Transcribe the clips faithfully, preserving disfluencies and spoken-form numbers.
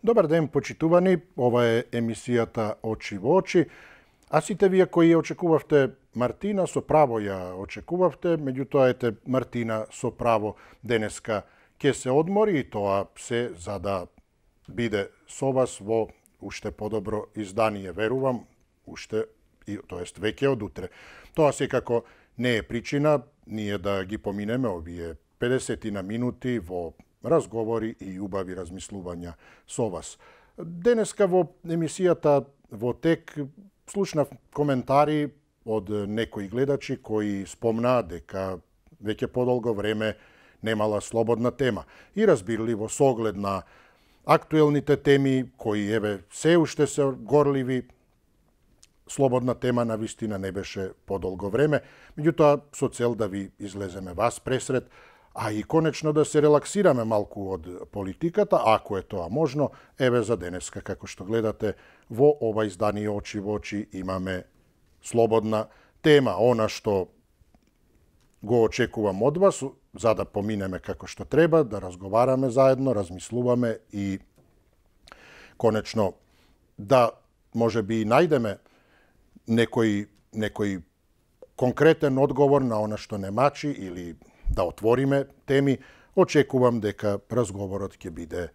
Добар ден, почитувани. Ова е емисијата Очи во очи. А сите вие кои ја очекувавте Мартина, со право ја очекувавте, меѓутоа ете Мартина со право денеска ќе се одмори, и тоа се за да биде со вас во уште подобро издание, верувам, уште, тоест веќе од утре. Тоа секако не е причина ние да ги поминеме овие педесетина минути во разговори и убави размислувања со вас. Денеска во емисијата во тек слушнав коментари од некои гледачи кои спомнаа дека веќе подолго време немала слободна тема. И разбирливо со оглед на актуелните теми кои еве се уште се горливи, слободна тема на вистина не беше подолго време, меѓутоа со цел да ви излеземе вас пресред, а и конечно да се релаксираме малку од политиката, ако е тоа можно. Еве за денеска, како што гледате, во ова издание Очи во очи имаме слободна тема, она што го очекувам од вас, за да поминеме како што треба, да разговараме заедно, размислуваме и конечно да може би и најдеме некој, некој конкретен одговор на она што не мачи или да отвориме теми. Очекувам дека разговорот ќе биде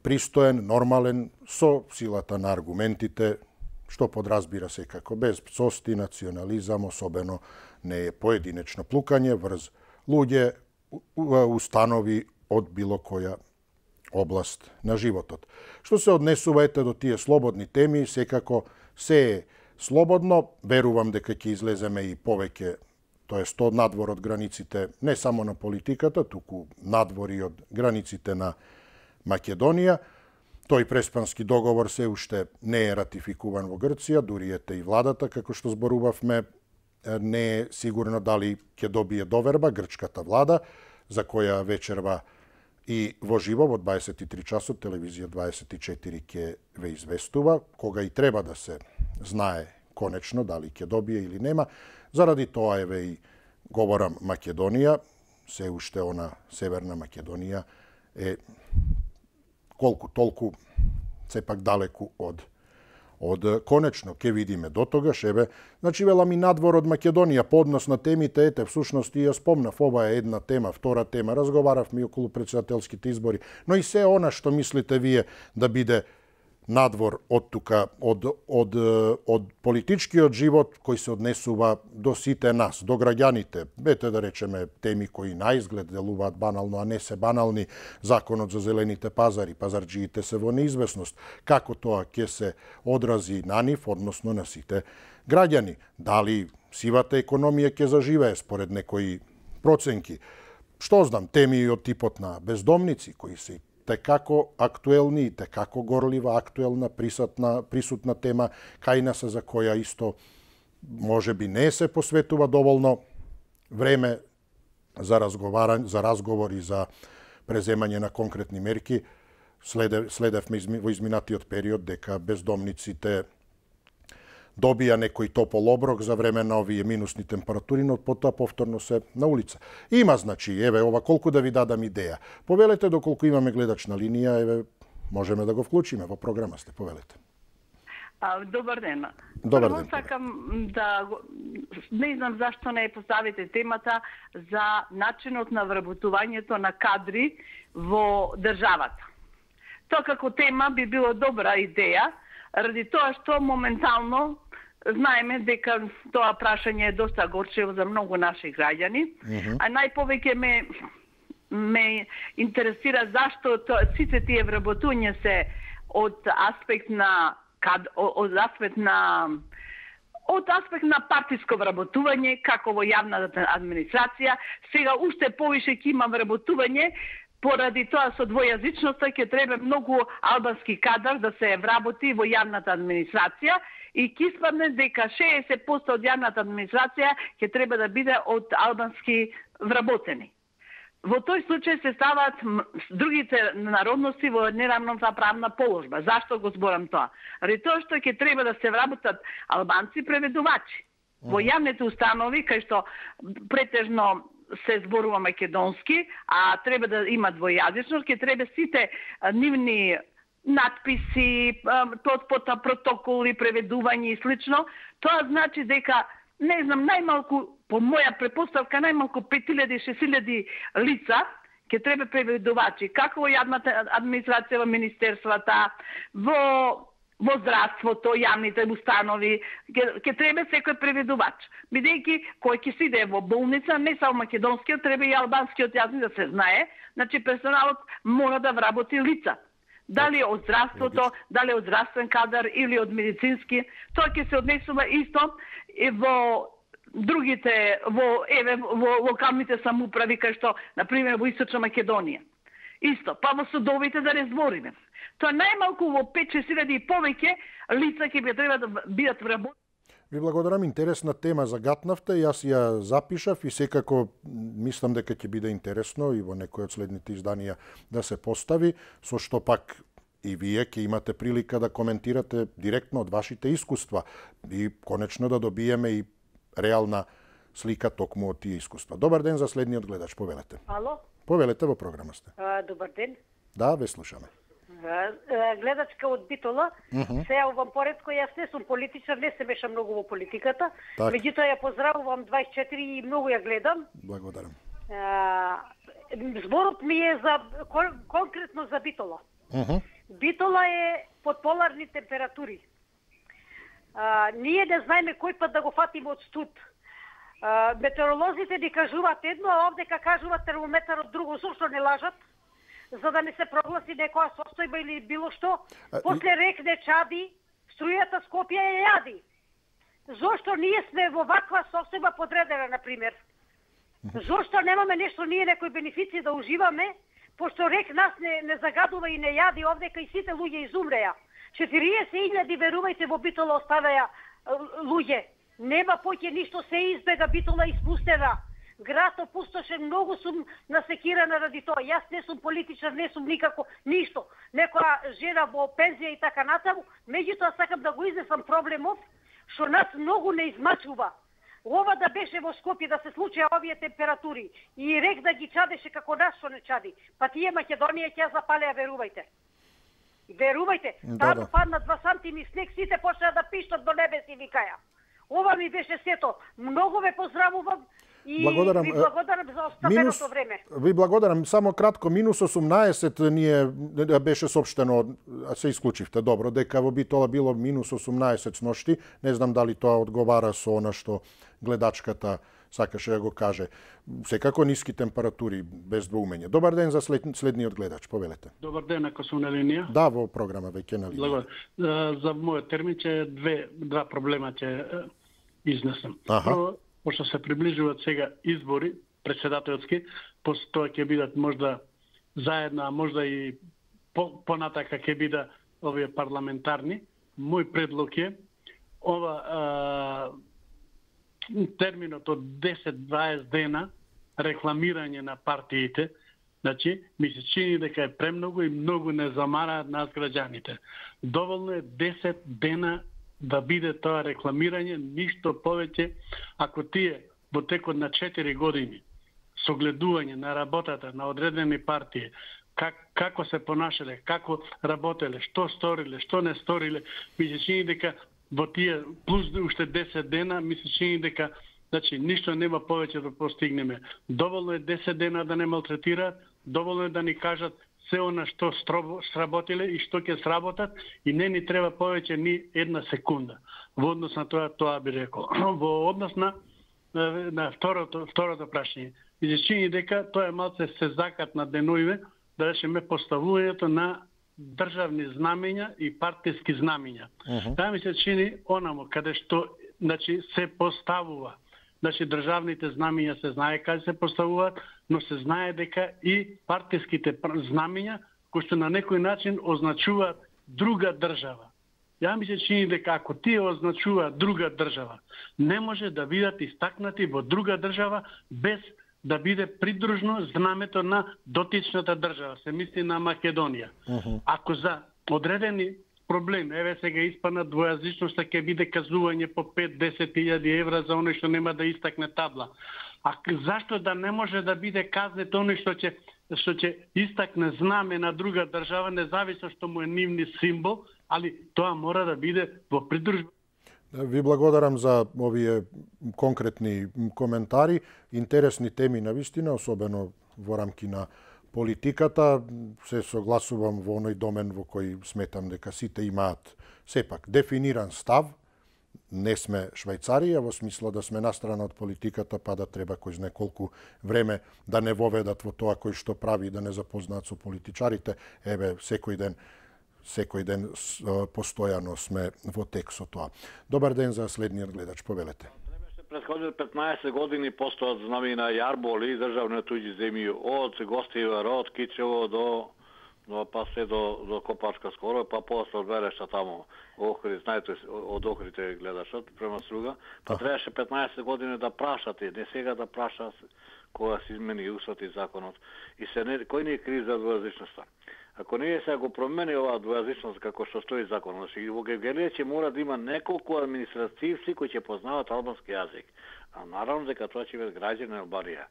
пристоен, нормален, со силата на аргументите, што подразбира секако без пцости, национализам, особено не е поединечно плукање врз луѓе, установи од било која област на животот. Што се однесува ете до тие слободни теми, секако се е слободно, верувам дека ќе излеземе и повеќе, тоест од надвор од границите не само на политиката, туку надвор и од границите на Македонија. Тој преспански договор се уште не е ратификуван во Грција, дури ете и владата, како што зборувавме, не е сигурно дали ќе добие доверба грчката влада, за која вечерва и во живо во дваесет и три часот телевизија дваесет и четири ќе ве известува, кога и треба да се знае конечно дали ќе добие или нема. Заради тоа еве и говорам Македонија, се уште она Северна Македонија е колку толку сепак далеку од од конечно. Ке видиме до тогаш, еве, значи велам и надвор од Македонија по однос на темите, ете всушност и ја спомнав, ова е една тема, втора тема, разговаравме и околу претседателските избори, но и се она што мислите вие да биде надвор од тука, од, од, од политичкиот живот кој се однесува до сите нас, до граѓаните. Бете да речеме теми кои на изглед делуваат банално, а не се банални, законот за зелените пазари, пазарџиите се во неизвестност, како тоа ќе се одрази на нив, односно на сите граѓани. Дали сивата економија ќе заживее според некои проценки? Што знам, теми од типот на бездомници, кои се текако актуелни и текако горлива, актуелна, присутна, присутна тема, кај нас за која исто може би не се посветува доволно време за разговарање, за разговор и за преземање на конкретни мерки. Следев, следевме во изминатиот период дека бездомниците добија некој топол оброк за време на овие минусни температури, но потоа повторно се на улица. Има, значи, еве, ова колку да ви дадам идеја. Повелете доколку имаме гледачна линија, еве, можеме да го вклучиме во програма, сте, повелете. А, добар ден. Добар Прво ден. сакам да не знам зашто не поставите темата за начинот на вработувањето на кадри во државата. Тоа како тема би било добра идеја, ради тоа што моментално знаеме дека тоа прашање е доста горчево за многу наши граѓани, uh -huh. а најповеќе ме ме интересира зашто то, сите тие вработувања се од аспект на кад, од аспект на од аспект на партиско вработување, како во јавната администрација. Сега уште повише ќе има вработување, поради тоа со двојазичноста ќе треба многу албански кадар да се вработи во јавната администрација и ќе испадне дека шеесет проценти од јавната администрација ќе треба да биде од албански вработени. Во тој случај се ставаат другите народности во неравноправна положба. Зашто го зборам тоа? Ради тоа што ќе треба да се вработат албанци преведувачи во јавните установи, кај што претежно се зборува македонски, а треба да има двојазичност, ќе треба сите нивни надписи, потпота, протоколи, преведување и слично. Тоа значи дека, не знам, најмалку, по моја препоставка, најмалку пет илјади до шест илјади лица ќе треба преведувачи, како во јавната администрација, во министерствата, во во здравството, јавните установи, ќе, ќе треба секој преведувач. Бидејќи кој ќе си иде во болница, не само македонскиот, треба и албанскиот јазик да се знае, значи персоналот мора да вработи лица. Дали од здравството, дали од здравствен кадар или од медицински, тоа ќе се однесува исто и во другите, во еве во локалните самоуправи, кај што, на пример, во Источна Македонија. Исто, па во судовите да не збориме. Тоа најмалку во пет-шест илјади и повеќе лица ќе би треба да бидат вработени. Ви благодарам, интересна тема загатнавте, јас ја запишав и секако мислам дека ќе биде интересно и во некој од следните изданија да се постави, со што пак и вие ќе имате прилика да коментирате директно од вашите искуства и конечно да добиеме и реална слика токму од тие искуства. Добар ден за следниот гледач, повелете. Ало? Повелете, во програма сте. А, добар ден. Да, ве слушаме. Гледачка од Битола, uh -huh. се јавувам поредко, јас не сум политичар, не се мешам многу во политиката, так. Меѓутоа ја поздравувам двајсет и четири и многу ја гледам. Благодарам. А, зборот ми е за конкретно за Битола. Uh -huh. Битола е под поларни температури. А, ние не знаеме кој пат да го фатиме од студ. А, метеоролозите ни кажуваат едно, а овдека кажуваат термометарот друго, зошто не лажат? За да не се прогласи некоја состојба или било што. После рек не чади, струјата Скопје ја јади. Зошто ние сме во ваква состојба подредена, например? Зошто немаме нешто ние некои бенефиции да уживаме, пошто рек нас не, не загадува и не јади овдека и сите луѓе изумреа. четириесет илјади, верувајте, во Битола оставаја луѓе. Нема поќе ништо, се избега, Битола испустена. Град опустошен, многу сум насекирана ради тоа. Јас не сум политичар, не сум никако ништо. Некоја жена во пензија и така натаму, меѓутоа сакам да го изнесам проблемов, што нас многу не измачува. Ова да беше во Скопје, да се случеа овие температури и рек да ги чадеше како нас што не чади, па тие Македонија ќе ја запалеа, верувајте. Верувајте, да, да. Падна два сантими снег, сите почнаа да пиштат до небе си викаја. Ова ми беше сето. Многу ве поздравувам и благодарам. Ви благодарам за оставеното време. Ви благодарам. Само кратко, минус осумнаесет ние беше соопштено, се исклучивте добро, дека во Битола било минус осумнаесет сношти. Не знам дали тоа одговара со она што гледачката сакаше да го каже. Секако ниски температури, без двоумење. Добар ден за след, следниот гледач, повелете. Добар ден, ако сум на линија. Да, во програма веќе на линија. За мојот термин ќе две два проблема ќе изнесам. Аха. Прво, пошто се приближуваат сега избори претседателски, после тоа ќе бидат можда заедно, а можда и по, понатака ќе бидат овие парламентарни. Мој предлог е ова а, терминот од десет до дваесет дена рекламирање на партиите, значи, ми се чини дека е премногу и многу не замараат нас граѓаните. Доволно е десет дена да биде тоа рекламирање, ништо повеќе. Ако тие во текот на четири години согледување на работата на одредени партии, как, како се понашале, како работеле, што сториле, што не сториле, ми се чини дека во тие плюс уште десет дена, ми се чини дека значи ништо нема повеќе да постигнеме. Доволно е десет дена да не малтретираат, доволно е да ни кажат се она што сработиле и што ќе сработат и не ни треба повеќе ни една секунда. Во однос на тоа, тоа би рекол. Во однос на, на второто, второто прашање. И се чини дека тоа е малце се закат на деноиве, да речеме поставувањето на државни знамења и партиски знамења. Uh -huh. Таа ми се чини онамо каде што значи се поставува. Значи државните знамења се знае каде се поставуваат, но се знае дека и партиските знамења кои што на некој начин означуваат друга држава. Ја ми се чини дека ако тие означуваат друга држава, не може да бидат истакнати во друга држава без да биде придружно знамето на дотичната држава, се мисли на Македонија. Uh -huh. Ако за одредени проблем, еве сега испана двојазичноста ќе биде казување по пет до десет илјади евра за оној што нема да истакне табла. А зашто да не може да биде казнет оној што ќе што ќе истакне знаме на друга држава, независно што му е нивни символ, али тоа мора да биде во придружба. Ви благодарам за овие конкретни коментари, интересни теми навистина, особено во рамки на политиката. Се согласувам во оној домен во кој сметам дека сите имаат сепак дефиниран став. Не сме Швајцарија во смисла да сме настрана од политиката, па да треба кој знае колку време да не воведат во тоа кој што прави, да не запознаат со политичарите. Еве, секој ден секој ден постојано сме во тек со тоа. Добар ден за следниот гледач, повелете. Предходни петнаесет години постојат знамени на јарболи и државни туѓи земји од Гостивара, од Кичево до до па се до до Копачка скоро, па после од Верешта таму. Охрид, знаете, од Охридте гледашот према Струга. Па требаше петнаесет години да прашате, не сега да праша кога се измени уставот и законот. И се не, кој не е крив за двојазичноста? Ако ние сега го промени оваа двојазичност како што стои законот, значи во Гевгелија ќе мора да има неколку административци кои ќе познаваат албански јазик. А наравно дека тоа ќе бидат граѓани на Албанија.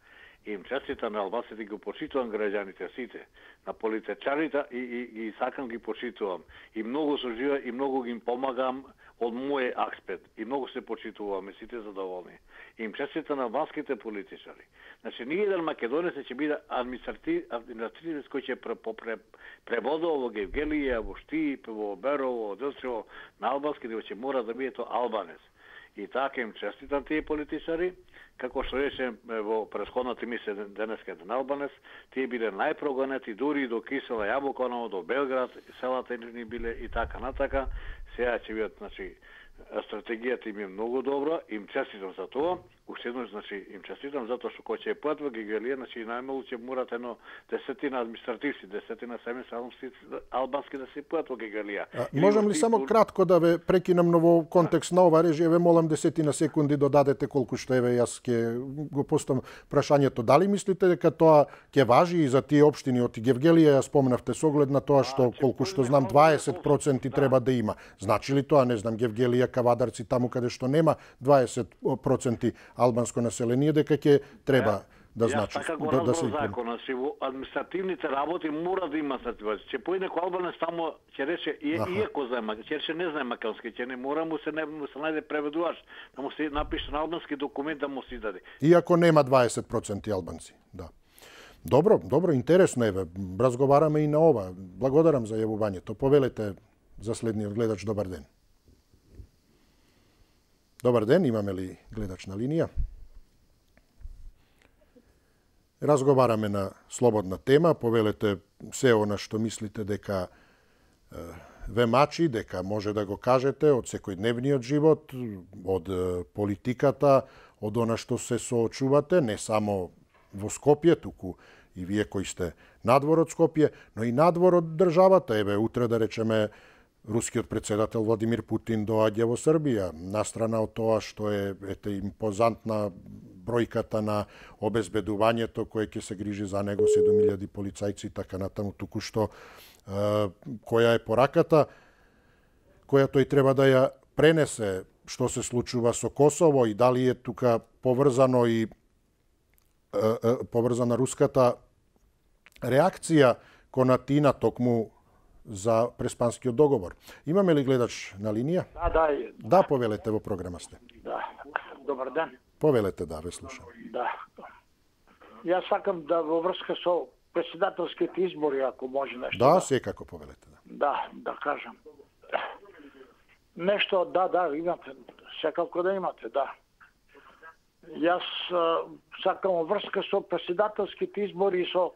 Им честитам на албанците, ги почитувам граѓаните сите, на политичарите и, и, и сакам ги почитувам. И многу сожива и многу ги им помагам од мој аспект. И многу се почитуваме, сите задоволни. Им честитам на албанските политичари. Значи, ние еден македонец ќе биде административ, административец кој ќе преводува во Гевгелија, во Штип, во Берово, во Делчево, на албански, дека ќе мора да биде тоа албанец. И така им честитам тие политичари, како што речем во претходната емисија денеска на албанец, тие биле најпрогонети дури до Кисела, Јабуканово, до Белград, селата ни биле и така натака. Сега ќе бидат, значи, стратегијата им е многу добра, им честитам за тоа. Уште еднаш, значи, им честитам затоа што кој ќе е пат во Гевгелија, значи најмалку ќе морат едно десетина административци, десетина сами албански да се пат во Гевгелија. Можам ли само кратко да ве прекинам на во контекст на ова режија, ве молам десетина секунди додадете колку што еве јас ќе го поставам прашањето. Дали мислите дека тоа ќе важи и за тие општини од Гевгелија, ја спомнавте со оглед на тоа што колку што знам дваесет проценти треба да има. Значи ли тоа, не знам, Гевгелија, Кавадарци, таму каде што нема дваесет проценти албанско население, дека ќе треба да значи да, да се закон, си во административните работи мора да има сативација. Ќе појде некој албанец таму ќе рече и иако знае, ќе рече не знае македонски, ќе не мора му се не му се најде преведувач, да му се напише на албански документ да му се даде. Иако нема дваесет проценти албанци, да. Добро, добро, интересно еве. Разговараме и на ова. Благодарам за јавувањето. Повелете за следниот гледач. Добар ден. Добар ден, имаме ли гледач на линија? Разговараме на слободна тема, повелете се она што мислите дека е, ве мачи, дека може да го кажете од секојдневниот живот, од политиката, од она што се соочувате, не само во Скопје, туку и вие кои сте надвор од Скопје, но и надвор од државата. Еве, утре да речеме, рускиот председател Владимир Путин доаѓа во Србија, настрана од тоа што е ете импозантна бројката на обезбедувањето кое ќе се грижи за него, седум илјади полицајци и така натаму, туку што е, која е пораката која тој треба да ја пренесе, што се случува со Косово и дали е тука поврзано и е, е, поврзана руската реакција кон Атина токму за преспанскиот договор. Имаме ли гледач на линија? Да, да. Да, повелете, во програма сте. Да. Добар ден. Повелете, да, ве слушам. Да. Јас сакам да во врска со председателските избори, ако може нешто. Да, да, секако повелете, да. Да, да кажам. Нешто, да, да, имате. Секако да имате, да. Јас а, сакам во врска со председателските избори и со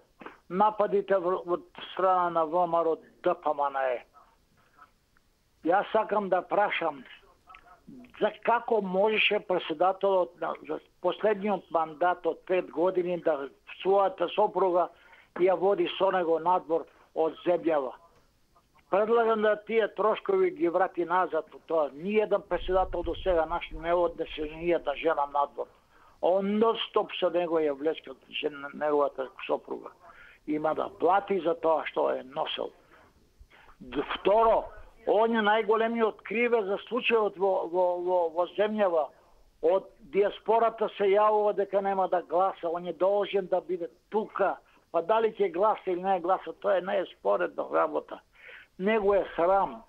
нападите од страна на ВМРО Д П М Н Е. Јас сакам да прашам за како можеше председателот на за последниот мандат од пет години да својата сопруга ја води со него надвор од земјава. Предлагам да тие трошкови ги врати назад од тоа. Ниједен председател до сега наш не однесе ниједна жена надвор. Он нон-стоп со него ја влечка неговата сопруга. Има да плати за тоа што е носел. Второ, он е најголемиот кривец за случајот во, во, во, во земјава од диаспората се јавува дека нема да гласа, он е должен да биде тука. Па дали ќе гласа или не гласа, тоа не е споредна работа. Него е срам.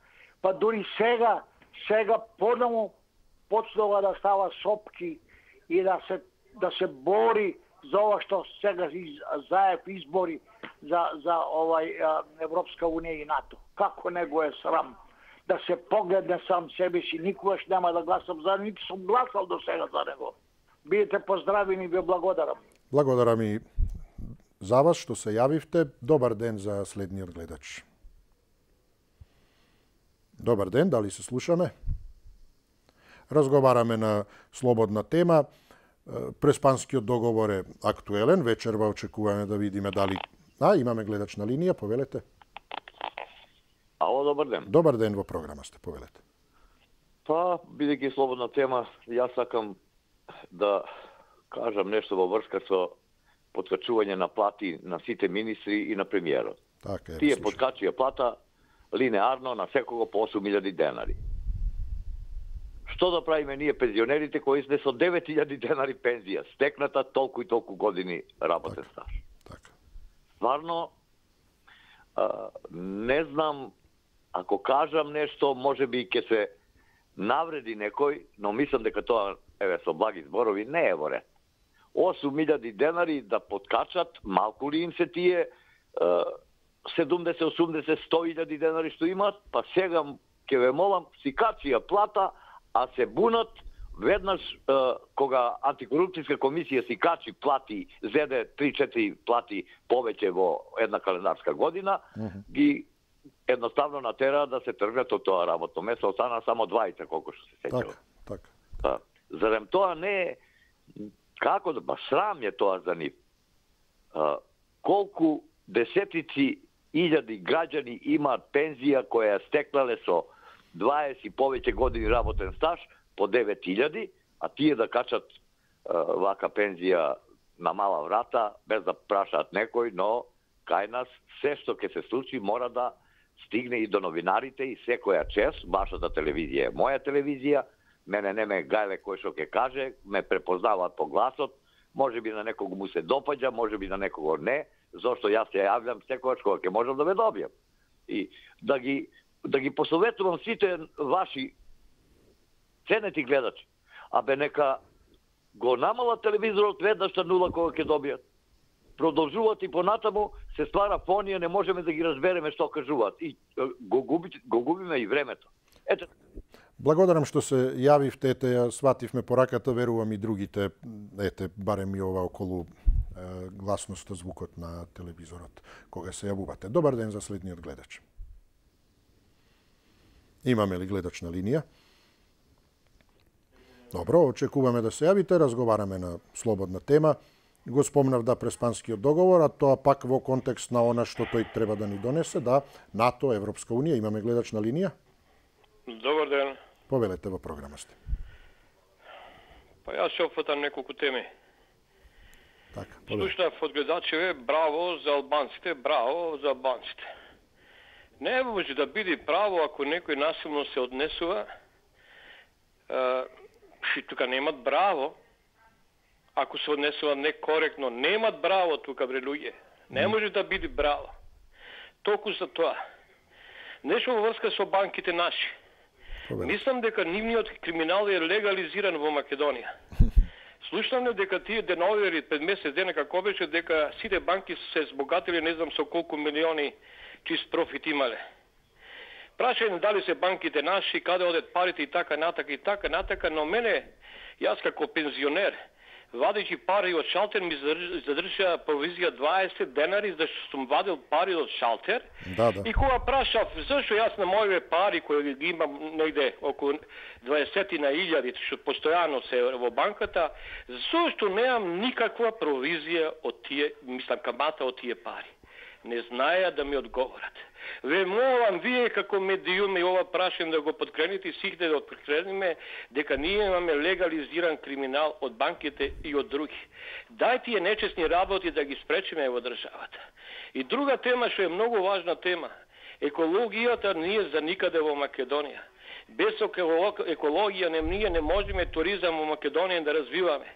Па дури сега, сега подаму почнува да става сопки и да се да се бори за ова што сега заев избори за за овај Европска унија и НАТО. Како него е срам да се погледне сам себе си, никогаш нема да гласам за, ниту сум гласал до сега за него. Бидете поздравени и ви благодарам. Благодарам и за вас што се јавивте. Добар ден за следниот гледач. Добар ден, дали се слушаме? Разговараме на слободна тема. Преспанскиот договор е актуелен. Вечерва очекуваме да видиме дали... А, имаме гледач на линија, повелете. Ало, добар ден. Добар ден, во програма сте, повелете. Па, бидејќи слободна тема, јас сакам да кажам нешто во врска со подкачување на плати на сите министри и на премиерот. Така е. Тие подкачија плата линеарно на секого по осум илјади денари. Што да правиме ние пензионерите кои сме со девет илјади денари пензија, стекната толку и толку години работен така, стаж. Така. Стварно, а, не знам, ако кажам нешто, може би ќе се навреди некој, но мислам дека тоа, еве, со благи зборови, не е во ред. осум илјади денари да подкачат, малку ли им се тие седумдесет, осумдесет, сто илјади денари што имаат, па сега ќе ве молам, си качија плата, а се бунат веднаш е, кога антикорупцијска комисија си качи плати, зеде три-четири плати повеќе во една календарска година, uh -huh. ги едноставно натера да се тргнат од тоа работно место, остана само двајца колку што се сеќава. Така, така. Па, зарем тоа не е, како да, ба срам е тоа за нив. А, колку десетици илјади граѓани имаат пензија која стекнале со дваесет и повеќе години работен стаж по девет илјади, а тие да качат а, вака пензија на мала врата, без да прашаат некој, но кај нас се што ќе се случи мора да стигне и до новинарите и секоја чест, вашата телевизија е моја телевизија, мене не ме гајле кој што ќе каже, ме препознаваат по гласот, може би на некого му се допаѓа, може би на некого не, зашто јас се јавljam секогаш кога ќе можам да ве добијам. И да ги да ги посоветувам сите ваши ценети гледачи, абе нека го намалат телевизорот веднаш на нула кога ќе добијат. Продолжуваат и понатаму, се ствара фонија, не можеме да ги разбереме што кажуваат и го губи, го губиме и времето. Ете. Благодарам што се јавивте, ете, ја свативме пораката, верувам и другите, ете, барем и ова околу е, гласноста, звукот на телевизорот, кога се јавувате. Добар ден за следниот гледач. Имаме ли гледач на линија? Добро, очекуваме да се јавите, разговараме на слободна тема. Го спомнав да Преспанскиот договор, а тоа пак во контекст на она што тој треба да ни донесе, да НАТО, Европска унија. Имаме гледач на линија? Добар ден. Повелете, во програма сте. Па јас се опфатам неколку теми. Така, слушнав од гледачеве, браво за албанците, браво за албанците. Не може да биде право ако некој насилно се однесува, и тука немат браво. Ако се однесува некоректно, немат браво тука, бре луѓе. Не може да биде браво. Толку за тоа. Нешто во врска со банките наши. Мислам дека нивниот криминал е легализиран во Македонија. Слушнам дека тие деновери пред месец дена како беше дека сите банки се збогатили не знам со колку милиони чист профит имале. Прашање дали се банките наши, каде одат парите и така натака и така натака, но мене, јас како пензионер, вадејќи пари од шалтер ми задржа провизија дваесет денари за што сум вадил пари од шалтер. Да, да. И кога прашав зашто јас на моите пари кои ги имам негде околу дваесет на илјади што постојано се во банката, зашто немам никаква провизија од тие, мислам камата од тие пари. Не знаеа да ми одговорат. Ве молам, вие како медиуми ова прашање да го подкрените и сите да подкрениме дека ние имаме легализиран криминал од банките и од други. Дај тие нечесни работи да ги спречиме во државата. И друга тема што е многу важна тема, екологијата не е за никаде во Македонија. Без екологија не ние не можеме туризам во Македонија да развиваме.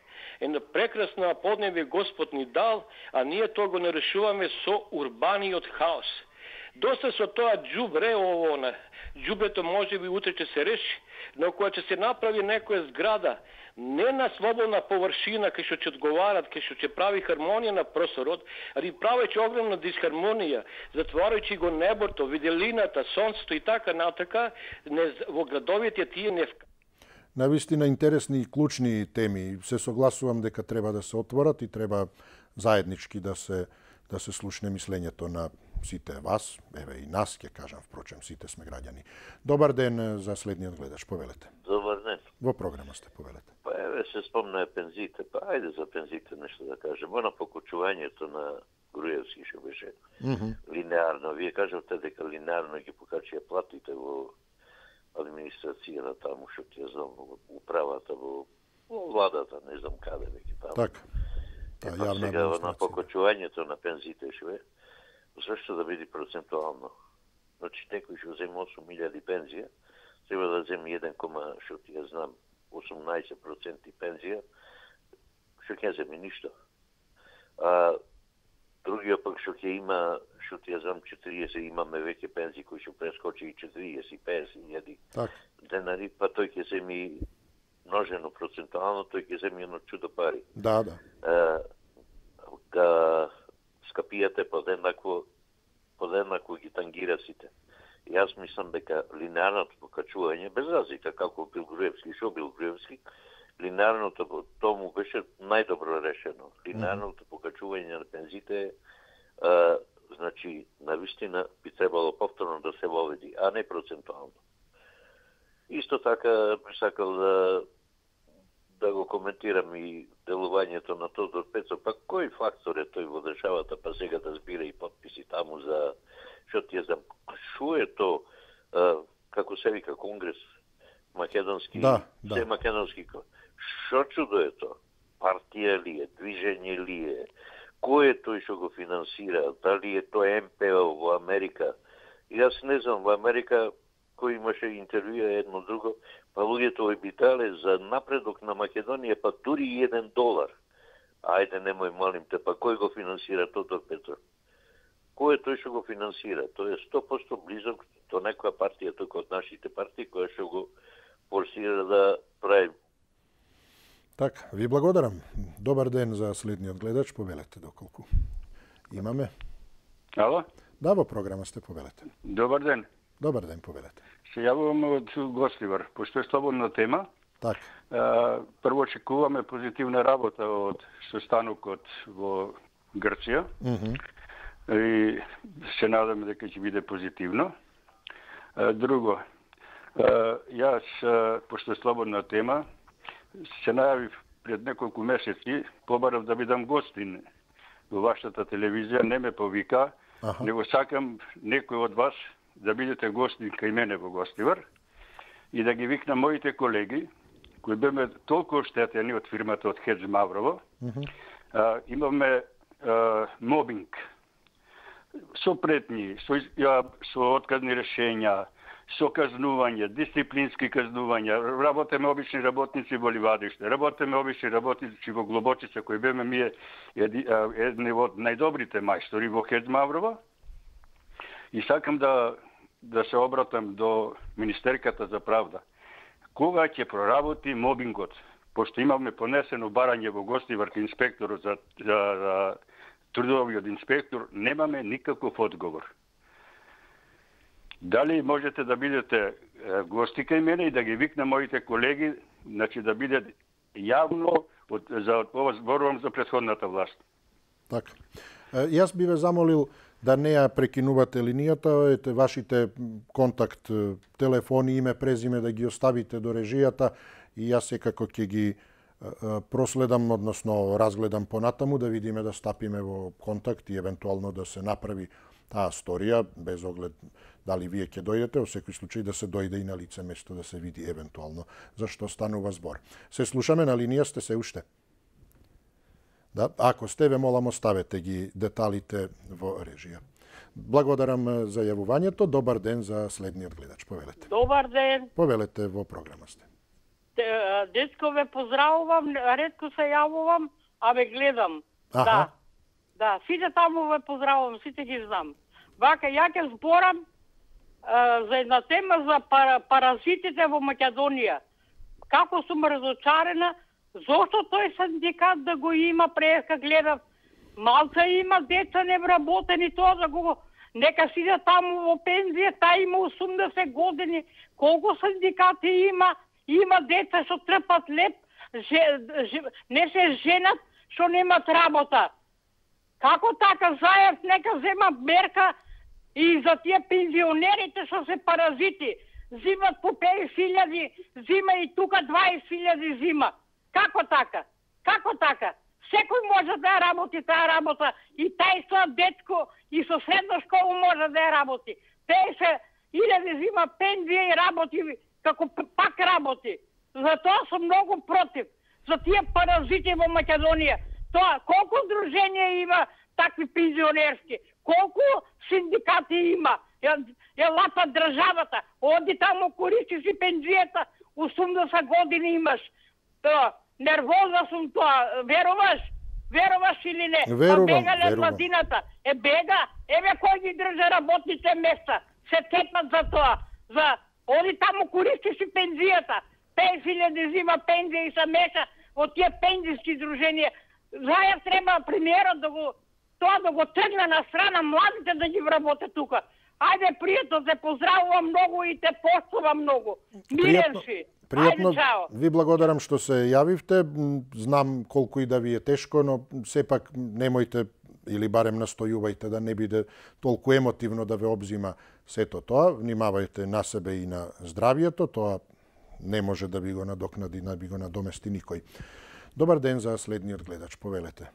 Една прекрасна поднебе Господ ни дал, а ние тоа го не решуваме со урбаниот хаос. Доста со тоа џубре ово на џубрето може би утре ќе се реши, но кога ќе се направи некоја зграда не на слободна површина кај што ќе одговарат, кај што ќе прави хармонија на просторот, али правејќи огромна дисхармонија, затварајќи го небото, виделината, сонцето и така натака, не, во градовите тие не. Навистина интересни и клучни теми. Се согласувам дека треба да се отворат и треба заеднички да се да се слушне мислењето на сите вас, еве и нас, ќе кажам, впрочем, сите сме граѓани. Добар ден за следниот гледач, повелете. Добар ден. Во програма сте, повелете. Па еве се спомна пензите, па ајде за пензите нешто да кажем. Она покачувањето на Груевски што беше mm -hmm. линеарно. Вие кажавте дека линеарно ги покачија платите во администрацијата таму, што ти знам, во управата, во, во владата, не знам каде веќе таму. Така. Та јавна администрација. На покачувањето на пензите шве, зашто да биде процентуално? Значи, некој што зема осум илјади пензија, треба да зема еден, што ти ја знам, осумнаесет проценти пензија, што ќе земи ништо. А другиот пак што ќе има, што ти ја знам, четириесет, имаме веќе пензии кои што прескочи и четириесет, петдесет илјади денари, па тој ќе земи множено процентуално, тој ќе земи едно чудо пари. Да, да. А, ка скапијате подеднакво, подеднакво ги тангира сите. И јас мислам дека линеарното покачување, без разлика како бил Груевски, што бил Груевски, линеарното тому беше најдобро решено. Линеарното покачување на пензите, а, значи, навистина би требало повторно да се воведи, а не процентуално. Исто така би сакал да да го коментирам и делувањето на Тодор Пецов, па кој фактор е тој во државата, па сега да збира и подписи таму за, што ти е за, шо е то, а, како се вика Конгрес, македонски, да, да. се македонски, шо чудо е то? Партија ли е, движење ли е, кој е тој што го финансира, дали е тоа Ем Пе О во Америка? И јас не знам, во Америка кој имаше интервјуа едно друго, па луѓето обитале за напредок на Македонија, па дури и еден долар. Ајде, немој малим те, па кој го финансира Тодор Петров? Кој е тој што го финансира? Тој е сто проценти близок до некоја партија, тука од нашите партии, која што го форсира да прави. Така, ви благодарам. Добар ден за следниот гледач, повелете доколку имаме. Ало? Да, во програма сте, повелете. Добар ден. Добар ден, повелете. Се јавувам од Гостивар, пошто е слободна тема. Так. Прво очекуваме позитивна работа од состанокот во Грција. Mm -hmm. И се надаме дека ќе биде позитивно. Друго, јас, пошто е слободна тема, се најавив пред неколку месеци, побарав да бидам гостин во вашата телевизија, не ме повика, ага. Него сакам некој од вас да бидете гостин кај мене во Гостивар и да ги викнам моите колеги, кои беме толку оштетени од фирмата од Хедж Маврово. Mm-hmm. а, имаме а, мобинг, со претни, со, а, со отказни решења, со казнување, дисциплински казнувања. Работеме обични работници во Ливадиште, работеме обични работници во Глобочица, кои беме ми едни од најдобрите мајстори во Хедж Маврово. И сакам да да се обратам до Министерката за правда. Кога ќе проработи мобингот? Пошто имаме понесено барање во Гостивар кај инспекторот за, за, за трудовиот инспектор, немаме никаков одговор. Дали можете да бидете гости кај мене и да ги викнам моите колеги, значи да биде јавно од, за ова зборувам за претходната власт. Така. Јас би ве замолил да не ја прекинувате линијата, ете вашите контакт, телефони, име, презиме да ги оставите до режијата и јас секако ќе ги проследам, односно разгледам понатаму, да видиме да стапиме во контакт и евентуално да се направи таа сторија, без оглед дали вие ќе дојдете, во секој случај да се дојде и на лице место да се види евентуално за што станува збор. Се слушаме, на линија сте се уште? Да, ако сте, ве молам оставете ги деталите во режија. Благодарам за јавувањето. Добар ден за следниот гледач. Повелете. Добар ден. Повелете, во програма сте. Дечко ве поздравувам, ретко се јавувам, а ве гледам. Аха. Да. Да, сите таму ве поздравувам, сите ги знам. Вака, ја ќе зборам а, за една тема за пара, паразитите во Македонија. Како сум разочарена, зошто тој синдикат да го има, преска гледав, малца има деца невработени, тоа да го... Нека сиде таму во пензија, та има осумдесет години, колку синдикати има, има деца што трпат леп, же, же, не се женат, што немат работа. Како така Заев нека зема мерка и за тие пензионерите што се паразити, зимат по петдесет илјади, зима и тука дваесет илјади зима. Како така? Како така? Секој може да ја работи таа работа, и тај со детско и со средна школа може да ја работи. петдесет илјади зима пензија и работи, како пак работи. Затоа сум многу против за тие паразити во Македонија. Тоа, колку друженија има такви пензионерски, колку синдикати има, ја, ја лапа државата, оди таму користи си пензијата, осумдесет години имаш. Тоа, нервозна сум тоа, веруваш? Веруваш или не? Верувам, па бега лед верувам. младината. Е бега, еве кој ги држа работните места. Се тепат за тоа. За оди таму користи си пензијата. петдесет илјади зима пензија и се меша од тие пензијски друженија. Зајав треба премиерот да го тоа да го тргне на страна, младите да ги вработат тука. Ајде, пријатно, те поздравувам многу и те поштувам многу. Мирен си. Пријатно, Ајде, чао. ви благодарам што се јавивте. Знам колку и да ви е тешко, но сепак немојте или барем настојувајте да не биде толку емотивно да ве обзима сето тоа. Внимавајте на себе и на здравието, тоа не може да ви го надокнади, да би го надомести никој. Добар ден за следниот гледач, повелете.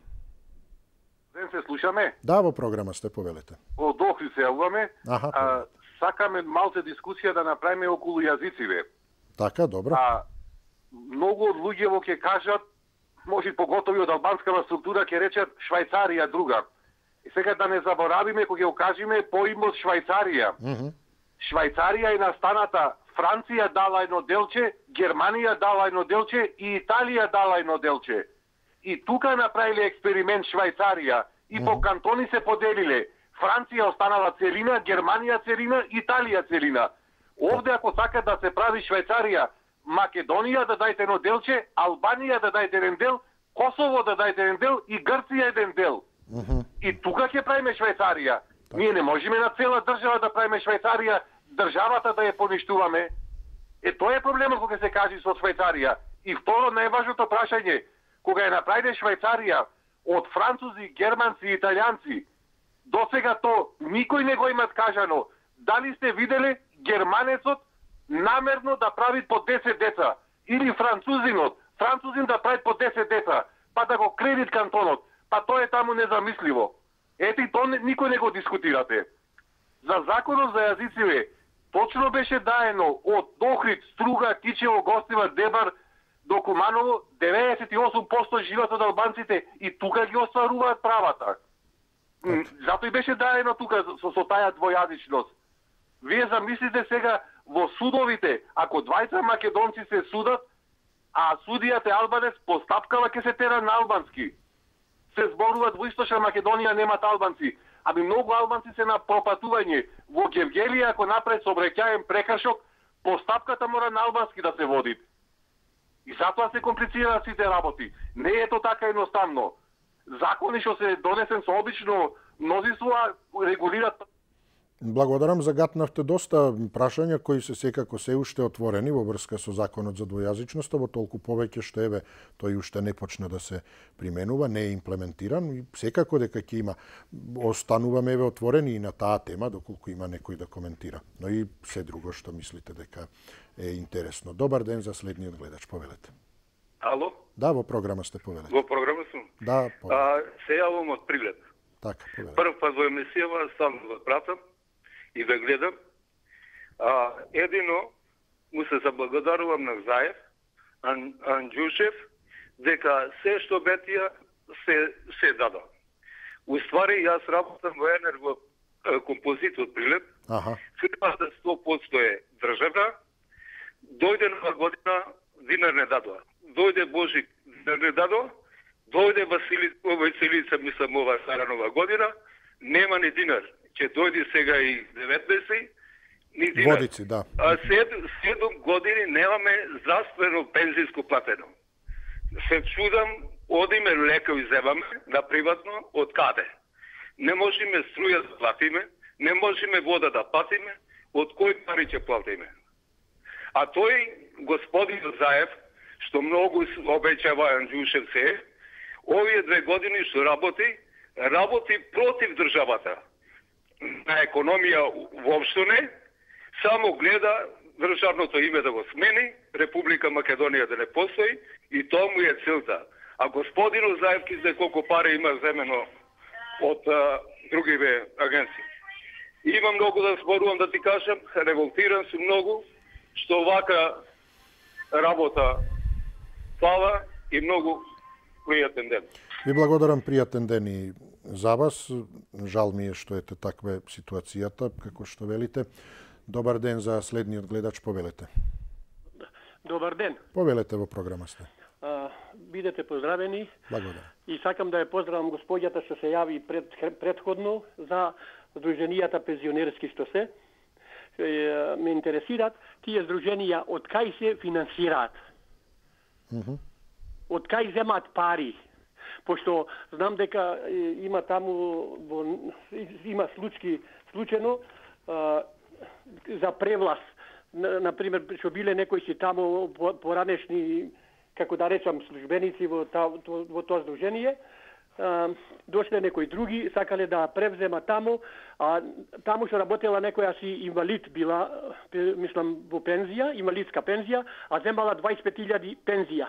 Ден се слушаме? Да, во програма сте, повелете. Од Охрид се јавуваме. Аха, а, сакаме малце дискусија да направиме околу јазиците. Така, добро. А многу од луѓето ќе кажат, може поготови од албанската структура ќе речат Швајцарија друга. И сега да не заборавиме кога ќе кажеме поимот Швајцарија. Mm -hmm. Швајцарија е настаната, Франција дала едно делче, Германија дала едно делче и Италија дала едно делче. И тука направиле експеримент Швајцарија и mm -hmm. по кантони се поделиле. Франција останала целина, Германија целина, Италија целина. Овде ако сака да се прави Швајцарија, Македонија да дајте едно делче, Албанија да дајте еден дел, Косово да дајте еден дел и Грција еден дел. Mm -hmm. И тука ќе правиме Швајцарија. Так. Ние не можеме на цела држава да правиме Швајцарија, државата да ја поништуваме. Е, тоа е проблемот кога се кажи со Швајцарија. И второ, најважното прашање, кога ја направиме Швајцарија од французи, германци и италијанци, досега то никој не го има кажано. Дали сте виделе германецот намерно да прави по десет деца, или французинот, французин да прави по десет деца, па да го кредит кантонот, па тоа е таму незамисливо. Ете и тоа никој не го дискутирате. За законот за јазиците, точно беше даено од Охрид, Струга, Кичево, Гостива, Дебар до Куманово, деветдесет и осум проценти живеат од албанците и тука ги остваруваат правата. Зато и беше даено тука со, со таја двојазичност. Вие замислите сега во судовите, ако двајца македонци се судат, а судијата е албанец, постапкава ќе се тера на албански. Се зборуваат во Источна Македонија немат албанци, ами многу албанци се на пропатување. Во Гевгелија ако направи сообраќаен прекршок, постапката мора на албански да се води. И затоа се комплицираат сите работи. Не е тоа така едноставно. Закони што се донесен со обично мнозинство регулираат. Благодарам, загатнавте доста прашања кои се секако се уште отворени во врска со законот за двојазичноста, во толку повеќе што еве тој уште не почна да се применува, не е имплементиран и секако дека ќе има, остануваме еве отворени и на таа тема доколку има некој да коментира. Но и се друго што мислите дека е интересно. Добар ден за следниот гледач, повелете. Ало? Да, во програма сте, повелете. Во програма сум? Да, повелете. А, се јавам од Прилеп. Така, повелете. Прв пат во емисијава сам го пратам и да гледам. А, едино му се заблагодарувам на Заев, Ан, Анđушев, дека се што бетија се, се дада. Уствари, јас работам во Енерго композит од Прилеп. Аха. Фирмата сто проценто е државна. Дојде нова година, динар не дадоа. Дојде Божик, динар не дадоа. Дојде Васили, Василица, мислам, ова стара нова година, нема ни динар. Ќе дојде сега и деветнаесет, ни динар. Водици, да. А сед, седум години немаме здравствено пензijsko платено. Се чудам, одиме лекови земаме на приватно, од каде? Не можеме струја да платиме, не можеме вода да платиме, од кој пари ќе платиме? А тој господин Заев, што многу обеќава Анđушев се, овие две години што работи, работи против државата. На економија воопшто не, само гледа државното име да го смени, Република Македонија да не постои и тоа му е целта. А господинот Заев ки знае колку пари има земено од а, другиве агенции. Има многу да зборувам, да ти кажам, револтиран сум многу, што вака работа фала и многу пријатен ден. Ви благодарам, пријатен ден и за вас. Жал ми е што ете таква ситуацијата, како што велите. Добар ден за следниот гледач, повелете. Добар ден. Повелете, во програма сте. А, бидете поздравени. Благодарам. И сакам да ја поздравам господјата што се јави пред, предходно за здруженијата пензионерски што се. Е, ме интересираат тие здруженија од кај се финансираат. Mm -hmm. Од кај земат пари. Пошто знам дека е, има таму во, има случаи случајно а, за превлас. На, например, што биле некои си таму поранешни, како да речам, службеници во, та, во тоа здружение, а, дошле некои други, сакале да превзема таму, а таму што работела некоја си инвалид била, мислам, во пензија, инвалидска пензија, а земала дваесет и пет илјади пензија.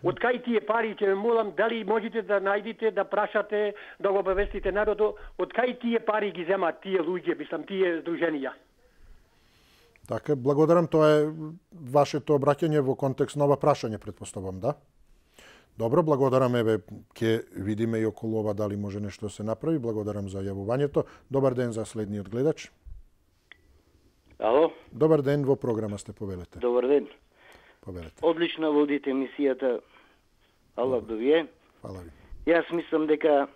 Од кај тие пари, ќе ме молам, дали можете да најдете, да прашате, да го обавестите народот, од кај тие пари ги земаат тие луѓе, мислам, тие здруженија? Така, благодарам, тоа е вашето обраќање во контекст на ова прашање, предпоставам, да? Добро, благодарам, еве, ќе видиме и околу ова дали може нешто да се направи. Благодарам за јавувањето. Добар ден за следниот гледач. Ало? Добар ден, во програма сте, повелете. Добар ден. Повелете. Одлично водите емисијата. Аллах да ви е. Фала ви. Јас мислам дека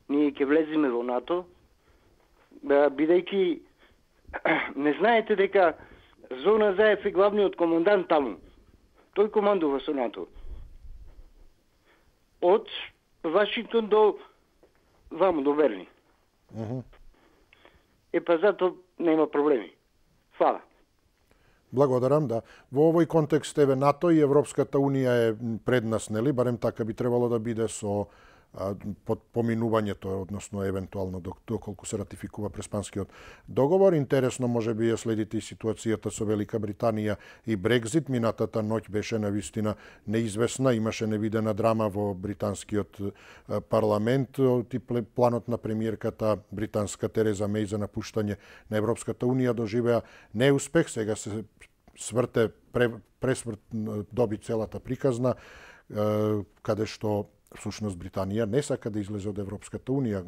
ние ќе влеземе во НАТО, бидејќи не знаете дека Зона Заев е главниот командант таму. Тој командува со НАТО. Од Вашингтон до ваму, до Берлин. Uh -huh. Е, па зато нема проблеми. Фала. Благодарам, да. Во овој контекст, еве, НАТО и Европската Унија е пред нас, нели? Барем така би требало да биде со а, под поминувањето, односно евентуално доколку се ратификува Преспанскиот договор. Интересно може би ја следите и ситуацијата со Велика Британија и Брекзит. Минатата ноќ беше навистина неизвестна, имаше невидена драма во британскиот парламент. И планот на премиерката британска Тереза Меј за напуштање на Европската Унија доживеа неуспех. Сега се сврте, пресврт доби целата приказна, каде што всушност Британија не сака да излезе од Европската Унија,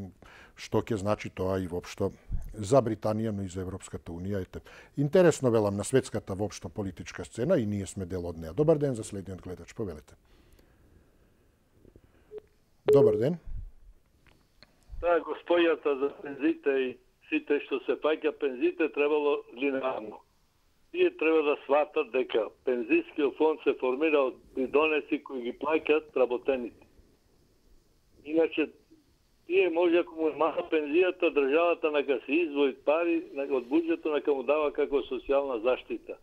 што ќе значи тоа и воопшто за Британија, но и за Европската Унија. Ете, интересно, велам, на светската воопшто политичка сцена и ние сме дел од неа. Добар ден за следниот гледач, повелете. Добар ден. Таа господјата за пензите и сите што се паќа пензите требало линеарно. Тие треба да сватат дека пензискиот фонд се формира од придонеси кои ги плаќаат работените. Иначе, тие може, ако му е мала пензијата, државата нека се издвои пари од буџетот, нека му дава како социјална заштита.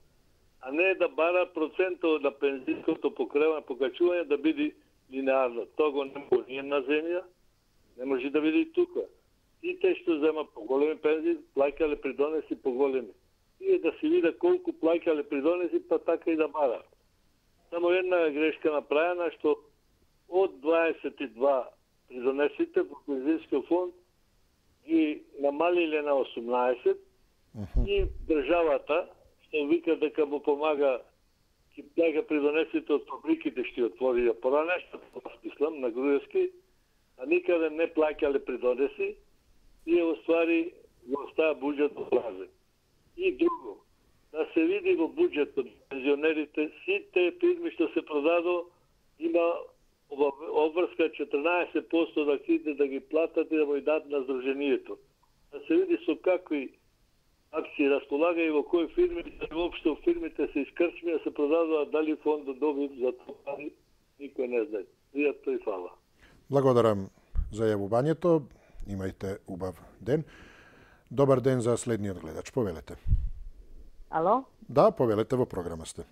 А не да бара процентот на пензиското покачување да биде линеарно. Тоа го не може ни на земја, не може да биде и тука. И те што зема поголеми пензии, плаќале придонеси поголеми. Тие да си видат колку плаќале придонеси, па така и да барат. Само една грешка направена, што од дваесет и два придонесите во пензискиот фонд ги намалиле на осумнаесет uh-huh. и државата, што вика дека му помага ќе плаќа придонесите од фабриките што отвори поране, што смислам на Груевски, а никаде не плаќале придонеси, и оствари во стаа буџет празен. И друго, да се види во буџетот пензионерите, сите фирми што се продадо, има обврска четрнаесет проценти да акциите да ги платат и да го дадат на здруженијето. Да се види со какви акции располага и во кои фирми, воопшто фирмите се искрчми, да се продадуваат, дали фондот доби за тоа, никој не знае. Пријатно и фала. Благодарам за јавувањето. Имајте убав ден. Добар ден за следниот гледач. Повелете. Ало? Да, повелете, во програма сте.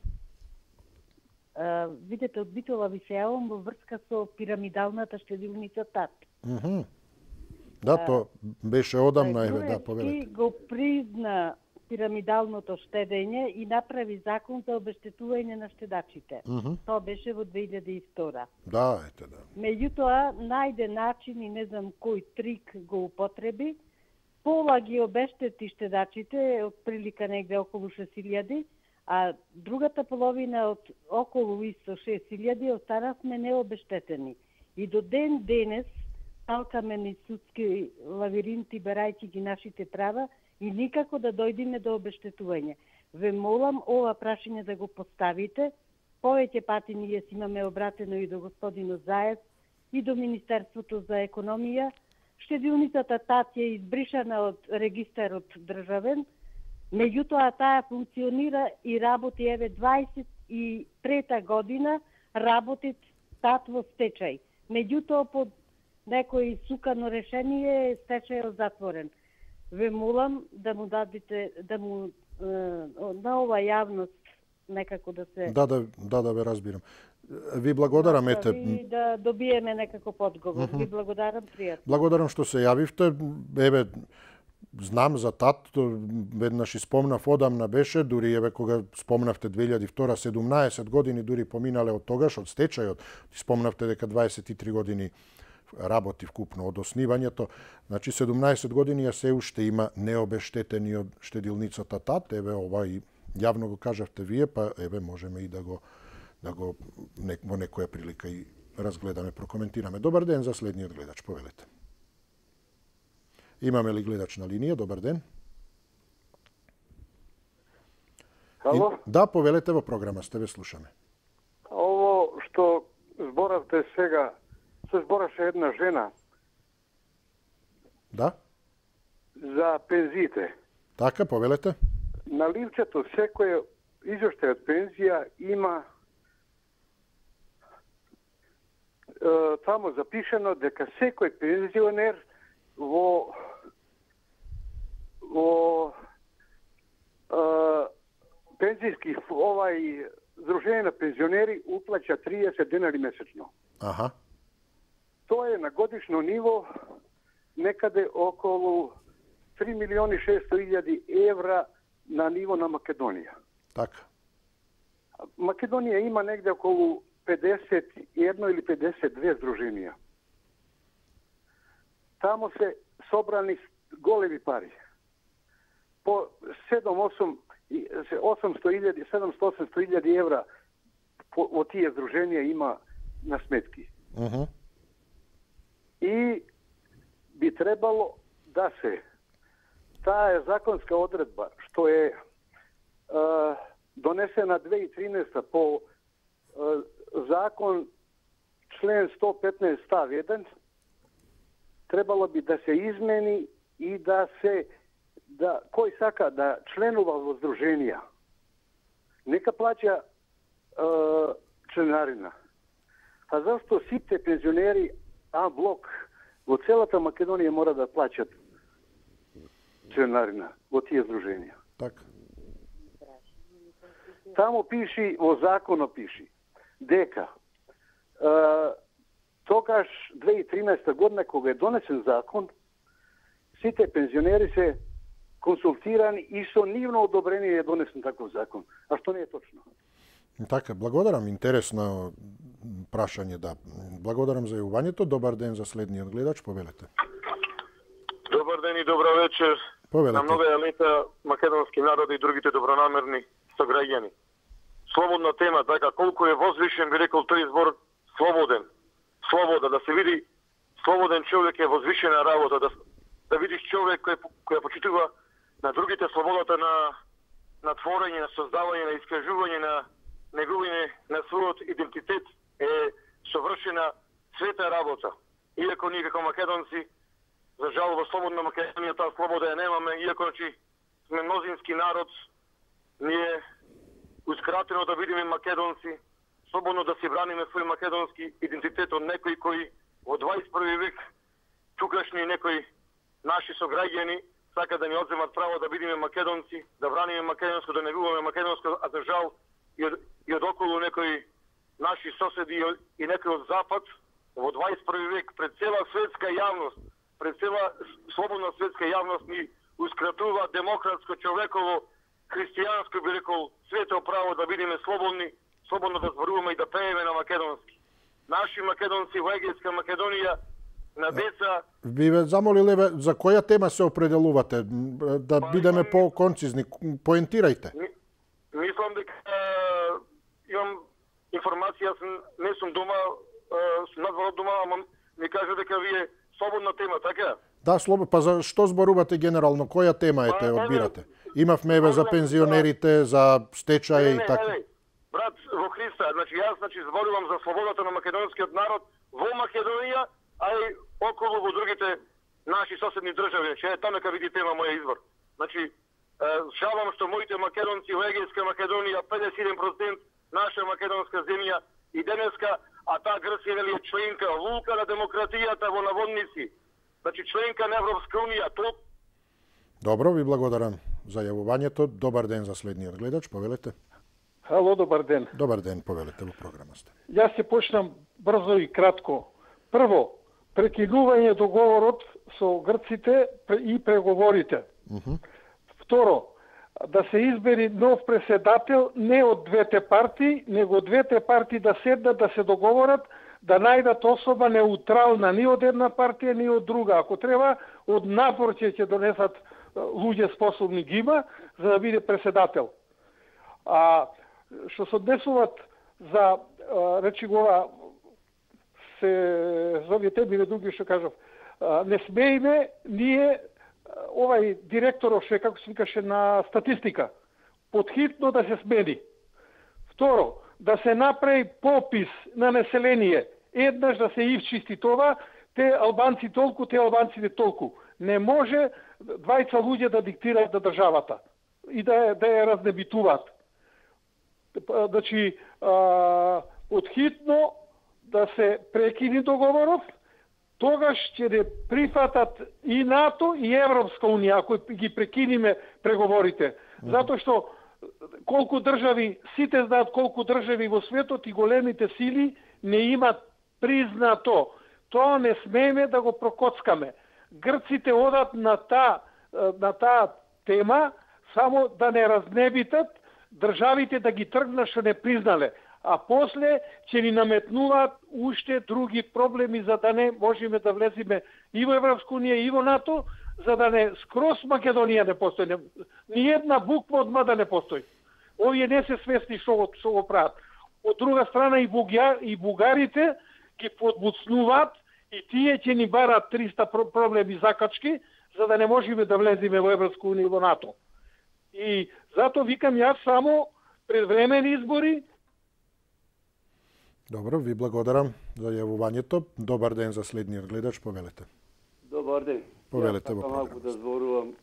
Uh, видете, од Битола ви се јавам во врска со пирамидалната штедилница ТАТ. Mm -hmm. Да, uh, то беше одамна, еве, да, повелете. И го призна пирамидалното штедење и направи закон за обештетување на штедачите. Mm -hmm. Тоа беше во две илјади и втора. Да, ете, да. Меѓутоа, најде начин и не знам кој трик го употреби, пола ги обештети штедачите, од прилика негде околу шест илјади, а другата половина од околу исто шест илјади останавме необештетени. И до ден денес талкаме низ судски лавиринти, барајќи ги нашите права и никако да дојдеме до обештетување. Ве молам ова прашање да го поставите. Повеќе пати ние си имаме обратено и до господинот Заев и до Министерството за економија. Штедилницата ТАТ е избришана од регистарот државен, меѓутоа таа функционира и работи еве дваесет и трета година работи ТАТ во стечај. Меѓутоа под некој сукано решение стечајот затворен. Ве молам да му дадете, да му е, на ова јавност некако да се... Да, да, да, да ве разбирам. Ви благодарам, да, ете... И да добиеме некаков одговор. Mm -hmm. Ви благодарам, пријатно. Благодарам што се јавивте. Еве, знам за ТАТ, веднаш и спомнав, одамна беше, дури еве кога спомнавте две илјади и втора, седумнаесет години дури поминале од тогаш, од стечајот. Спомнавте дека дваесет и три години работи вкупно од основањето. Значи седумнаесет години ја се уште има необештетени од штедилницата ТАТ. Еве ова и јавно го кажавте вие, па еве можеме и да го да го не, во некоја прилика и разгледаме, прокоментираме. Добар ден за следниот гледач, повелете. Имаме ли гледач на линија? Добар ден. Ало? И, да, повелете, во програма сте, ве слушаме. Ово што зборавте сега, се збораше една жена. Да? За пензиите. Така, повелете. На ливчето секој извештај од пензија има е, таму запишено дека секој пензионер во во е, пензијски овај Здружение на пензионери уплаќа триесет денари месечно. Аха. Тоа е на годишно ниво некаде околу три милиони шеста илјади евра на ниво на Македонија. Така. Македонија има негде околу педесет и едно или педесет и две здруженија. Таму се собрани големи пари. По седум-осум осумсто илјади, седумсто-осумсто илјади евра по, во тие здруженија има на сметки. Uh -huh. И би требало да се таа е законска одредба што е, е донесена две илјади и тринаесета по е, закон член сто петнаесет став еден, требало би да се измени и да се да кој сака да членува во здруженија нека плаќа е, членарина. А зашто сите пензионери А блок во целата Македонија мора да плаќат членарина во тие здруженија? Така. Таму пиши, во законот пиши, дека е, тогаш две илјади и тринаесета година кога е донесен закон, сите пензионери се консултирани и со нивно одобрение е донесен таков закон. А што не е точно? Така, благодарам, интересно прашање, да. Благодарам за јавувањето. Добар ден за следниот гледач, повелете. Добар ден и добра вечер. Повелете. На многоја лета македонски народ и другите добронамерни сограѓани. Слободна тема, така, колку е возвишен, би рекол тој збор, слободен. Слобода, да се види, слободен човек е возвишена работа, да да видиш човек кој кој почитува на другите слободата на на творење, на создавање, на искажување на неговине на својот идентитет е совршена света работа. Иако ние како македонци, за жал во слободна Македонија таа слобода ја немаме, иако значи сме мнозински народ, ние ускратено да бидеме македонци, слободно да си браниме свој македонски идентитет од некои кои во дваесет и први век тукашни некои наши сограѓани сака да ни одземат право да бидеме македонци, да браниме македонско, да негуваме македонско, а за жал и од, и од околу некои наши соседи и, и некои од запад во дваесет и први век пред цела светска јавност, пред цела слободна светска јавност ни ускратува демократско, човеково, христијанско, би рекол, свето право да бидеме слободни, слободно да зборуваме и да пееме на македонски. Наши македонци во Егејска Македонија на деца... Би ве замолиле, за која тема се определувате? Да бидеме по-концизни, поентирајте. Мислам дека имам информација, не сум дома, сум надвор од дома, ама ми кажа дека вие слободна тема, така? Да, слободно. Па за што зборувате генерално? Која тема е те одбирате? Имавме еве за пензионерите, за стечај и така. Брат, во Христа, значи јас значи зборувам за слободата на македонскиот народ во Македонија, а и околу во другите наши соседни држави. Че таму нека види тема моја избор. Значи, жалам што моите македонци во Егејска Македонија педесет и еден проценти наша македонска земја и денеска, а таа Грција вели е членка лука на демократијата во наводници. Значи членка на Европска унија, то... Добро, ви благодарам за јавувањето. Добар ден за следниот гледач, повелете. Хало, добар ден. Добар ден, повелете, во програма сте. Јас ќе почнам брзо и кратко. Прво, прекинување договорот со грците и преговорите. Uh -huh. Второ, да се избери нов преседател не од двете партии, него од двете партии да седнат да се договорат, да најдат особа неутрална ни од една партија, ни од друга. Ако треба, од напор ќе ќе донесат луѓе способни ги има, за да биде преседател. А што се однесуваат за, речи гова, се зови теби или други што кажав, не смееме ние овај директоров што како се викаше на статистика подхитно да се смени. Второ, да се направи попис на население, еднаш да се исчисти това, те албанци толку, те албанците толку. Не може двајца луѓе да диктираат да државата и да да ја разнебитуваат. Значи, подхитно да се прекини договорот, тогаш ќе не прифатат и НАТО и Европска унија, ако ги прекиниме преговорите. Затоа што колку држави, сите знаат колку држави во светот и големите сили не имат признато. Тоа не смееме да го прокоцкаме. Грците одат на таа на таа тема само да не разнебитат државите да ги тргнат што не признале, а после ќе ни наметнуваат уште други проблеми за да не можеме да влеземе и во Европска унија и во НАТО, за да не скроз Македонија не постои. Ни една буква од ма да не постои. Овие не се свесни што го, што го прават. Од друга страна и, бугар, и бугарите ги подбуцнуваат и тие ќе ни барат триста проблеми закачки, за да не можеме да влеземе во Европска унија и во НАТО. И затоа викам јас само предвремени избори. Добро, ви благодарам за јавувањето. Добар ден за следниот гледач, повелете. Добар ден. Повелете во програма. Малку да зборувам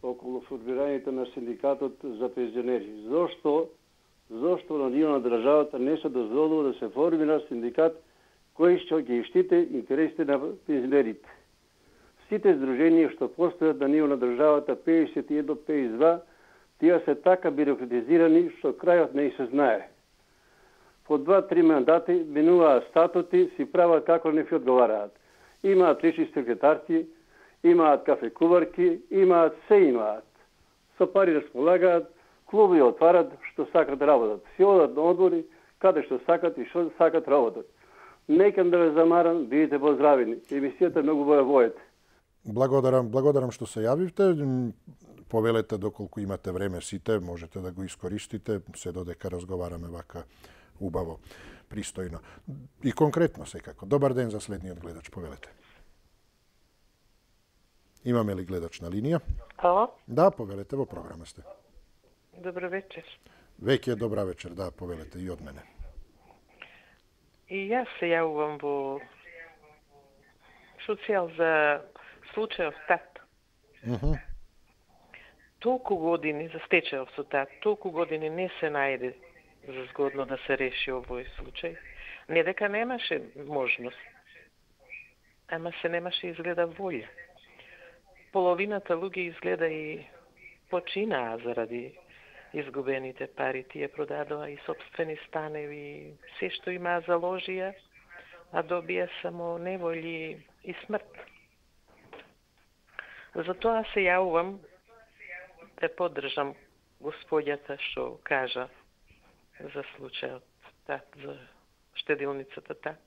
околу формирањето на синдикатот за пензионери. Зошто зошто на ниво на државата не се дозволува да се формира синдикат кој што ќе штите интересите на пензионерите? Сите здруженија што постојат на ниво на државата педесет и едно педесет и два, тие се така бирократизирани што крајот не се знае. По два-три мандати менуваат статути, си прават како не ви одговараат. Имаат лични секретарки, имаат кафекуварки, имаат се имаат. Со пари располагаат, клубови отварат што сакат да работат. Си одат на одбори, каде што сакат и што сакат работат. Некам да ве замарам, бидете поздравени. Емисијата многу боја воете. Благодарам, благодарам што се јавивте. Повелете доколку имате време сите, можете да го искористите, се додека разговараме вака убаво, пристојно. И конкретно секако. Добар ден за следниот гледач, повелете. Имаме ли гледач на линија? Ало? Да, повелете, во програма сте. Добро вечер. Веќе е добра вечер, да, повелете и од мене. И јас се јавувам во социјал за случајот тат. Mm -hmm. Толку години за стечајот со тат, толку години не се најде за згодно да се реши овој случај. Не дека немаше можност, ама се немаше изгледа волја. Половината луѓе изгледа и починаа заради изгубените пари. Тие продадоа и собствени станеви, се што имаа заложија, а добија само неволји и смрт. Затоа се јавувам да поддржам господјата што кажа за случајот тат, за штедилницата тат.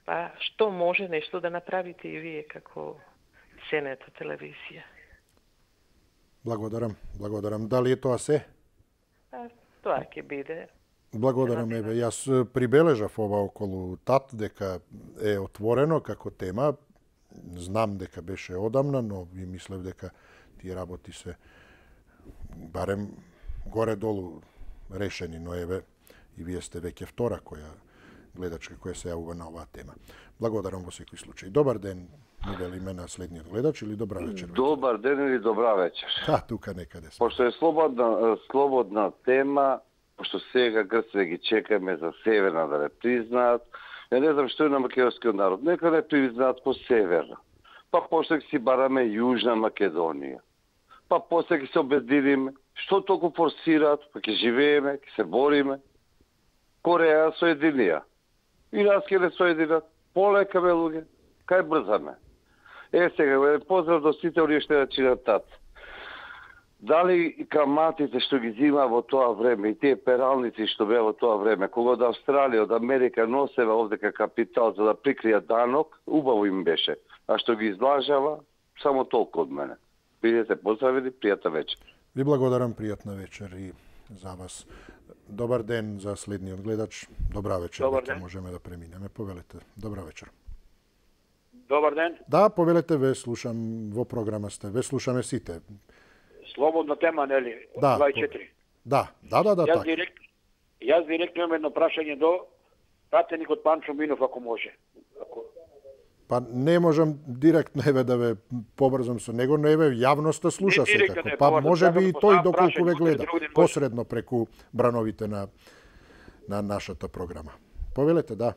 Па што може нешто да направите и вие како сенета телевизија? Благодарам, благодарам. Дали е тоа се? Па, тоа ќе биде. Благодарам, еве, јас прибележав ова околу тат дека е отворено како тема. Знам дека беше одамна, но ви мислев дека тие работи се барем горе-долу решени, но еве и вие сте веќе втора која гледачка која се јавува на оваа тема. Благодарам во секој случај. Добар ден, ми вели имена следниот гледач или добра вечер? Добар ден или добра вечер. Да, тука некаде сме. Пошто е слободна, слободна тема, пошто сега Грците ги чекаме за северна да не признаат, ја не знам што е на македонскиот народ. Нека не признаат по северна. Па после ќе си бараме Јужна Македонија. Па после ќе се обединиме. Што толку форсираат? Па ќе живееме, ќе се бориме. Кореја соединија. И нас ќе не соединат. Полека бе луѓе. Кај брзаме? Е, сега, поздрав до сите оние што ја чинат тат. Дали каматите што ги зима во тоа време и тие пералници што беа во тоа време, кога од Австралија, од Америка носева овдека капитал за да прикријат данок, убаво им беше. А што ги излажава, само толку од мене. Бидете поздравени, пријатна вечер. Ви благодарам, пријатна вечер и за вас. Добар ден за следниот гледач. Добра вечер. Добар ден. Можеме да преминеме. Повелете. Добра вечер. Добар ден. Да, повелете, ве слушам, во програма сте. Ве слушаме сите. Слободна тема, нели? Да. дваесет и четири. Да, да, да, да, Јас така. директ, јас директно имам едно прашање до пратеникот Панчо Минов, ако може. Ако... Па не можам директно еве да ве побрзам со него, но еве јавноста слуша Не, директно секако. не, Па побрзам, може би сакам и да тој поставам доколку ве прашање, гледа, другите може. посредно преку брановите на на нашата програма. Повелете, да.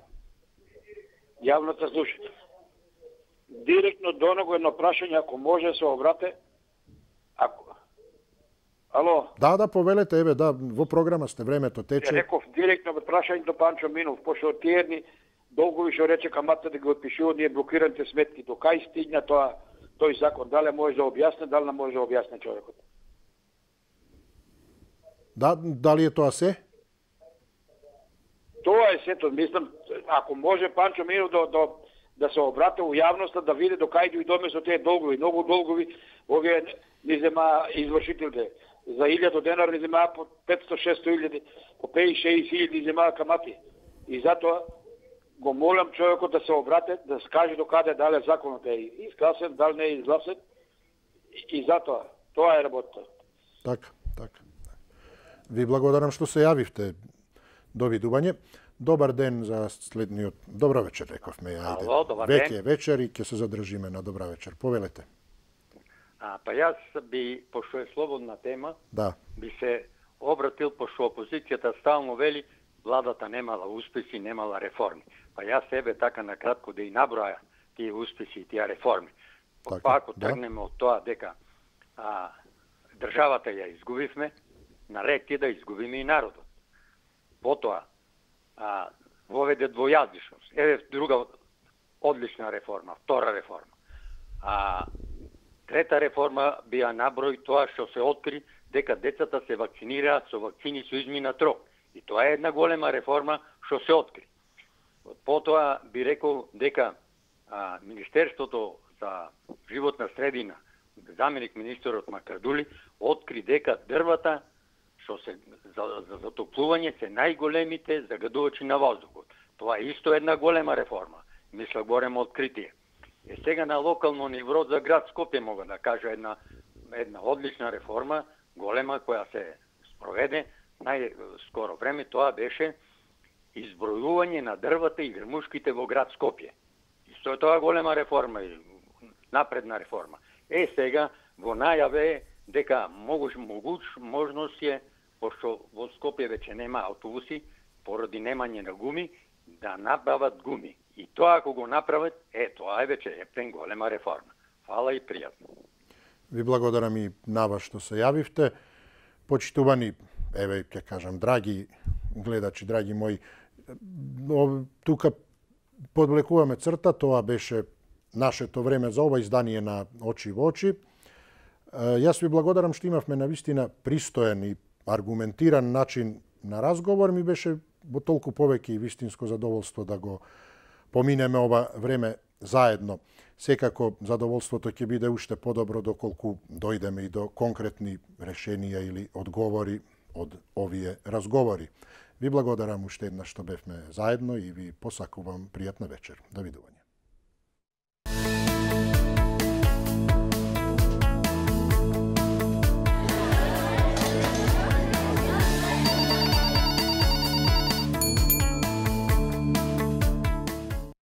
Јавната слуша. Директно до него едно прашање, ако може се обрате. Ако... Ало? Да, да, повелете, еве, да, во програма сте, времето Ја тече. реков директно прашање до Панчо Минов, пошто тие едни долгови што рече камата да ги отпишуваат ние блокираните сметки, до кај стигна тоа тој закон, дали може да објасне, дали не може да објасне човекот. Да, дали е тоа се? Тоа е сето, мислам, ако може Панчо Минов да, да, да се обрати у јавноста, да види до кај дојдоме со тие долгови, многу долгови, овие ни зема извршителите. За илјада денар ни зема по петсто шесто илјади, по петдесет шеесет илјади зема камати. И затоа го молам човекот да се обрате, да скаже до каде дали законот е изгласен, дали не е изгласен. И, и затоа, тоа е работа. Така, така. Ви благодарам што се јавивте. Довидување. Добар ден за следниот. Добра вечер, рековме. Ајде. Ало, добар Веќе ден. е вечер и ќе се задржиме на добра вечер. Повелете. А, па јас би, пошто е слободна тема, Да. би се обратил, пошто опозицијата стално вели, владата немала успеси, немала реформи. Па јас себе така накратко да и наброја тие успеси и тие реформи. Така, Па ако да. тргнеме од тоа дека а, државата ја изгубивме, наред е да изгубиме и народот. Потоа а, воведе двојазичност. Еве друга одлична реформа, втора реформа. А трета реформа би ја наброј тоа што се откри дека децата се вакцинираат со вакцини со изминат рок. И тоа е една голема реформа што се откри. Потоа би рекол дека а, Министерството за животна средина, заменик министерот Макардули, откри дека дрвата што се за, за затоплување се најголемите загадувачи на воздухот. Тоа е исто една голема реформа. Мисля, горемо откритие. Е сега на локално ниво за град Скопје мога да кажа една една одлична реформа, голема, која се спроведе најскоро време, тоа беше избројување на дрвата и грмушките во град Скопје. И што е тоа голема реформа, напредна реформа. Е сега во најаве е дека могуш могуш можност е, пошто во Скопје веќе нема автобуси поради немање на гуми, да направат гуми. И тоа ако го направат, е тоа е веќе ептен голема реформа. Фала и пријатно. Ви благодарам и на вас што се јавивте. Почитувани, еве ќе кажам, драги гледачи, драги мои, тука подвлекуваме црта, тоа беше нашето време за ова издание на Очи во очи. Јас ви благодарам што имавме навистина пристоен и аргументиран начин на разговор. Ми беше во толку повеќе и вистинско задоволство да го поминеме ова време заедно. Секако задоволството ќе биде уште подобро доколку дојдеме и до конкретни решенија или одговори од овие разговори. Ви благодарам уште еднаш што бевме заедно и ви посакувам пријатна вечер. Довидување.